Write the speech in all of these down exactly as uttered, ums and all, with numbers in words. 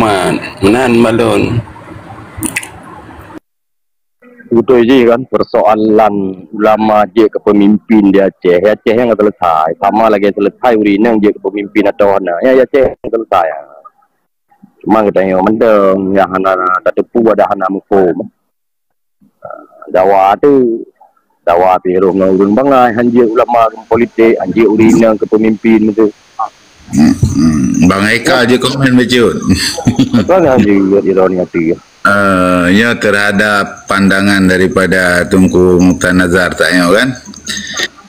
Meunan malon. Beutôi jih kan, persoalan ulama jeuet keu pemimpin di Aceh. Di Aceh nyang ka selesai. Sama lagèe selesai ureueng inong jeuet keu pemimpin atau hana. Ya, di Aceh nyang selesai. Cuma geutanyoe mantong nyang hana tateupeue, ada hana muphom. Dawa tu, dawa pih roh ngon ureueng bangai, hanjeuet ulama keu politik, hanjeuet ureueng inong keu pemimpin tu. Hmm, hmm. Bang Eka je komen bacut. Apa hanjeuet ironi hati. Eh, ya, terhadap pandangan daripada Teungku Mukhtar Nazar tak nyoe kan?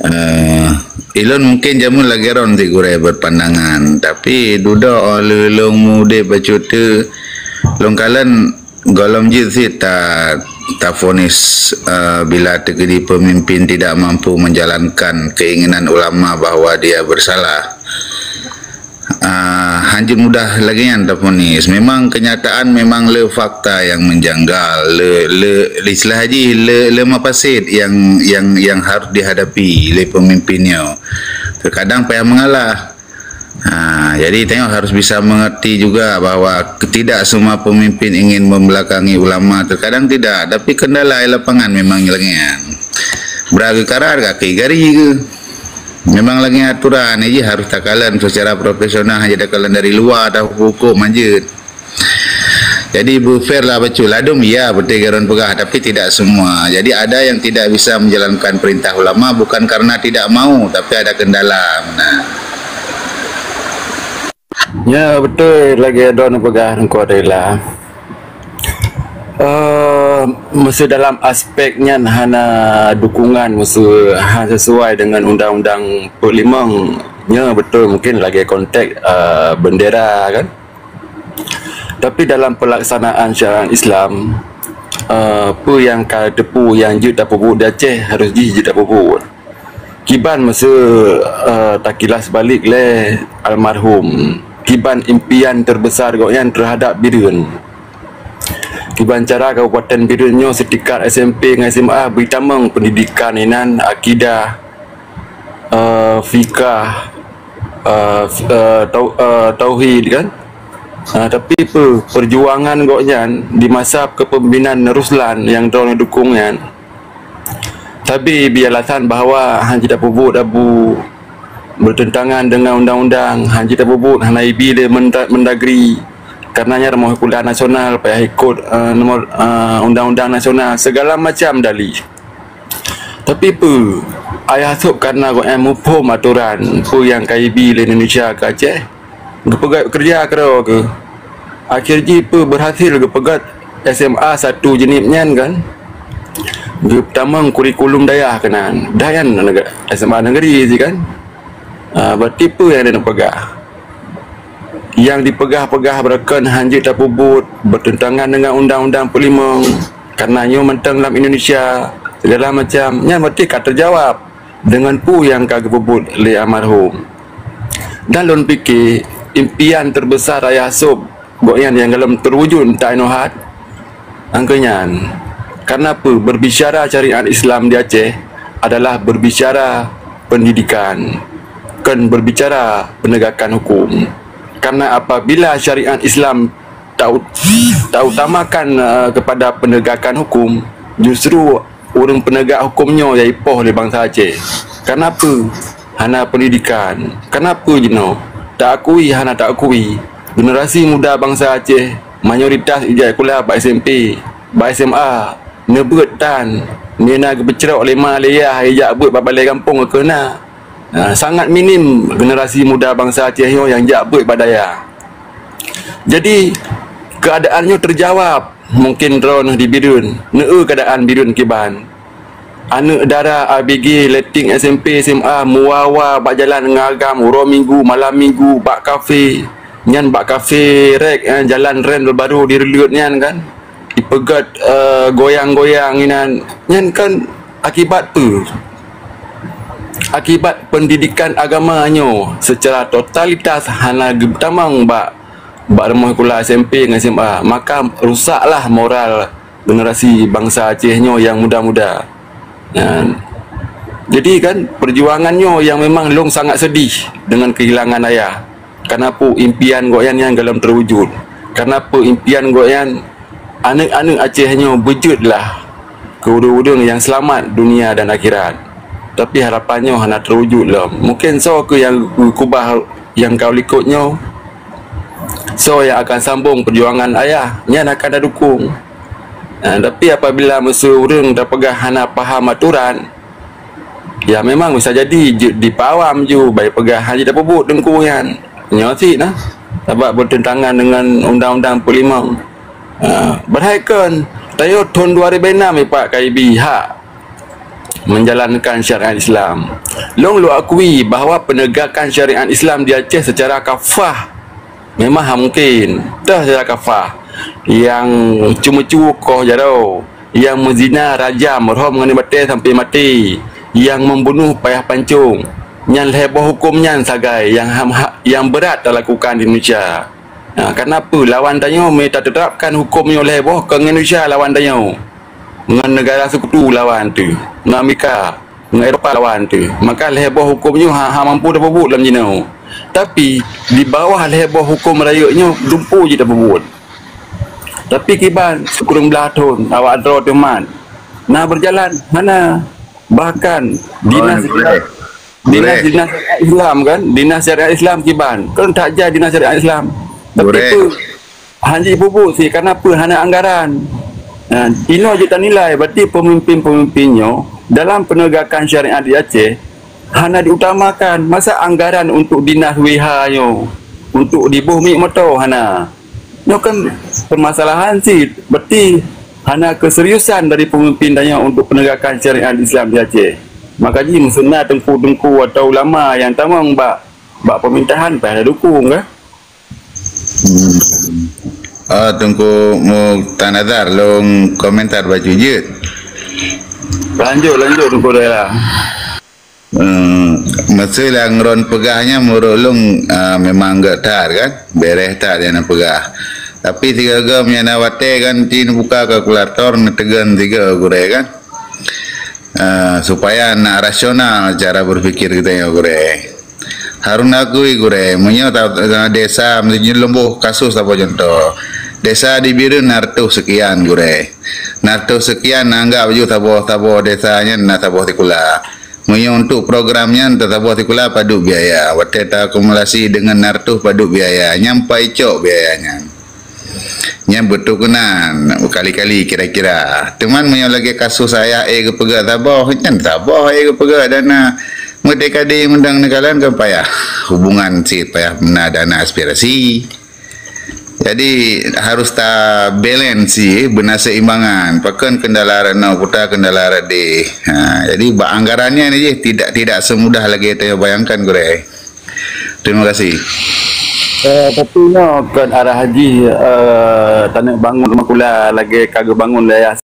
Eh, ilôn mungkin jameun lagèe droen sigurèe berpandangan, tapi dudoe lôn mude bacut tu, lôn kalon gohlom jeuet cit ta, tafonis, eh, bila teukeudi pemimpin tidak mampu menjalankan keinginan ulama bahwa dia bersalah. Ah, hanjeuet mudah lagèe nyan tafonis. Memang kenyataan memang le fakta yang menjanggal, le, le, istilah jih le, le mafasid yang, yang, yang harus dihadapi lé pemimpin nyoe. Terkadang payah mengalah. Ha, jadi tengok harus bisa mengerti juga bahwa tidak semua pemimpin ingin membelakangi ulama, terkadang tidak, tapi kendala di lapangan memang lagèe nyan. Bra geukarat kaki gari ke. Memang lagèe aturan, jadi harus takalon secara profesional, hana takalon dari luwa, tahuköm-huköm hanjeuet. Jadi beu fair lah bacut. Ladôm ya beutôi garon peugah, tapi tidak semua. Jadi ada yang tidak bisa menjalankan perintah ulama bukan karena tidak mau, tapi ada kendala. Nah. Ya, beutôi lagèe droen peugah Teungku Adela. Eh, meuseu dalam aspek nyan hana dukungan, meuseu hana sesuai dengan undang-undang peuet limong, nyoe beutôi mungkin lagèe konteks, eh, bendera kan. Tapi dalam pelaksanaan syariat Islam, eh, peue nyang ka teupeue nyang jeuet tapeubuet di Aceh harus jih jeuet tapeubuet. Kiban meuseu, eh, takilas balik lé almarhum, kiban impian terbesar gobnyan terhadap Bireuen. Kiban cara Kabupaten Bireuen nyoe seutingkat S M P ngon S M A bri tamong pendidikan inan akidah, eh, fikah, eh, f-, eh, tau-, eh, tauhid kan. Ah, tapi peue, perjuangan gobnyan di masa kepemimpinan Ruslan nyang droeneuh dukung nyan, tapi bi alasan bahwa hana jitapeubuet abu bertentangan dengan undang-undang, hana jitapeubuet, hana ibi lé Menda-, Mendagri, karena nyan rumoh kuliah nasional, payah ikot, eh, nomor, eh, undang-undang nasional, segala macam dalih. Tapi peue, Ayah Sop karena gobnyan muphom atoran peue nyang ka ibi lé Indonesia keu Aceh, geupeugöt keureuja keudroe geuh. Akhé jih peue, berhasil geupeugöt S M A satu Jeunieb nyan kan. Geupeutamong kurikulum dayah keunan. Dayah nyan S M A negeri jih kan. Ah, berarti peue nyang neupeugah? Nyang dipeugah-peugah beureukan hana jeuet tapeubuet, bertentangan dengan undang-undang peuet limong, karena nyoe mantong lam Indonesia, segala macam, nyan berarti ka teujawab dengan peue nyang ka geupeubuet lé almarhum. Dan lôn pike, impian terbesar Ayah Sop gobnyan nyang gohlom teuwujud, entah inoe hat, Angkeu nyan, karena peue, berbicara syariat Islam di Aceh adalah berbicara pendidikan, kon berbicara penegakan hukum. Karena apabila syariat Islam tau-, tautamakan, eh, kepada penegakan hukum, justru ureuëng penegak hukum nyoe nyang ipoh lé bansa Aceh. Karena peue? Hana pendidikan. Karena peue jinoe? Taakui hana taakui. Generasi muda bansa Aceh mayoritas ijak sikula bak S M P, bak S M A, neubeuet tan, meunan geupeucrok lé ma lé yah ijak beuet bak balai gampông keu na. Ha, sangat minim generasi muda bansa Aceh nyoe nyang jak beuet bak dayah. Jadi, keuadaan nyoe teujawab. Mungken droeneuh di Bireuen, neueu keuadaan Bireuen kiban. Aneuëk dara A B G, letting S M P, S M A, meuwa-wa bak jalan ngon agam uroe Minggu, malam Minggu, bak kafe. Nyan bak kafe rek, eh, jalan rem baru direuleuet nyan kan. Ipeugöt, eh, goyang-goyang inan. Nyan kan akibat peue? Akibat pendidikan agama nyoe secara totalitas hana geutamong bak bak rumoh sikula S M P ngon S M A, maka rusaklah moral generasi bansa Aceh nyoe nyang muda-muda. Nyan. Jadi kan, perjuangan nyoe nyang memang lôn sangat sedih dengan kehilangan ayah. Karena peue, impian gobnyan nyan gohlom teuwujud. Karena peuimpian gobnyan, aneuëk-aneuëk Aceh nyoe beujeuet lah keu ureuëng-ureuëng nyang seulamat dunia dan akhirat. Tapi harapan nyoe hana teuwujud lom. Mungken soe keuh nyang geukubah nyang ka likot nyoe? Soe nyang akan sambong peujuangan ayah, nyan akan tadukong. Ha, tapi apabila meuseu ureuëng tapeugah hana paham atoran, ya memang bisa jadi jeuet dipeuawam ju, bai peugah hana jeuet tapeubuet teungku nyan. Nyoe cit nah, sabab beuteuntangan deungon Undang-Undang empat puluh lima. Ha, padahai kon, tanyoe thon dua ribu enam ipak ka ibi hak menjalankan syariat Islam. Lôn lôn akui bahwa penegakan syariat Islam di Aceh secara kafah memang hana mungkin. Toh secara kafah, nyang ceumeucue koh jaroe, nyang meuzina rajam, rhom ngon batée sampai maté, nyang membunuh payah pancong. Nyan lhée boh huköm nyan sagai nyang ham-, ha-, nyang beurat talakukan di Indonesia. Ha, kenapa lawan tanyoe mita teuterapkan huköm nyoe lhée boh keu Indonesia lawan tanyoe? Ngon negara sekutu lawan teuh, ngon Amerika, ngon Eropa lawan teuh. Maka lhée boh huköm nyoe ha, ha mampu tapeubuet lam jinoe. Tapi, di bawah lhée boh huköm rayeuk nyoe lumpu jih tapeubuet. Tapi kiban sikureueng blaih thon awak droe teuh mat na beujalan hana. Bahkan dinas, dinas, dinas syariat Islam kan, dinas syariat Islam kiban kan tak jai dinas syariat Islam. Tapi tu hana jipeubuet sih karena apa hana anggaran. Nah, inoe jeuet tanilai berarti pemimpin-pemimpin nyoe dalam penegakan syariat di Aceh hana diutamakan. Masa anggaran untuk dinas W H nyoe untuk diboh minyeuk moto hana. Nyoe kan permasalahan cit. Berarti hana keseriusan dari pemimpin tanyoe untuk penegakan syariat Islam di Aceh. Maka jih meuseuna teungku-teungku atau ulama nyang tamong bak, bak pemerintahan payah dukung kan? Hmm. Ah, Teungku Muktanazar, lôn komentar bacut jeuet. Lanjut, lanjut, Teungku Daerah. Hmm, masa nyang ron peugah nyan meunurot lôn, ah, memang gét that kan? Bereh that nyang na peugah. Tapi sigoe-goe meunyo na watée kan, ci neubuka kalkulator, neuteugon sigoe gurée kan? Ah, supaya na rasional cara berpikir kita nyoe gurée. Harun akui gurée, meunyo ta-, ta-, desa, meunyo lôn boh kasus saboh contoh. Desa di Bireuen na reutôh sekian gurée. Na reutôh sekian, anggap ju saboh, saboh desa nyan na saboh sikula. Meunyoe untuk program nyan teusaboh sikula padub biaya, watée taakumulasi deungon na reutôh padub biaya, nyan pai cok biaya nyan. Nyan beutôi keunan, beukali-kali kira-kira. Teuma meunyoe lagée kasus ayah éh geupeugah saboh, nyan saboh éh geupeugah dana. Meutikadi meudang neukalon kan payah hubungan cit, payah na dana aspirasi. Jadi harus ta balance sih, beuna seimbangan. Pakon kendala rot noe, puta kendala rot deh. Ha, jadi bak anggaran nyan jih tidak, tidak semudah lagée tabayangkan gurée. Terima kasih. Eh, tapi nyoe kon arah jih, eh, taneuk bangun makula lagée ka geubangun dayah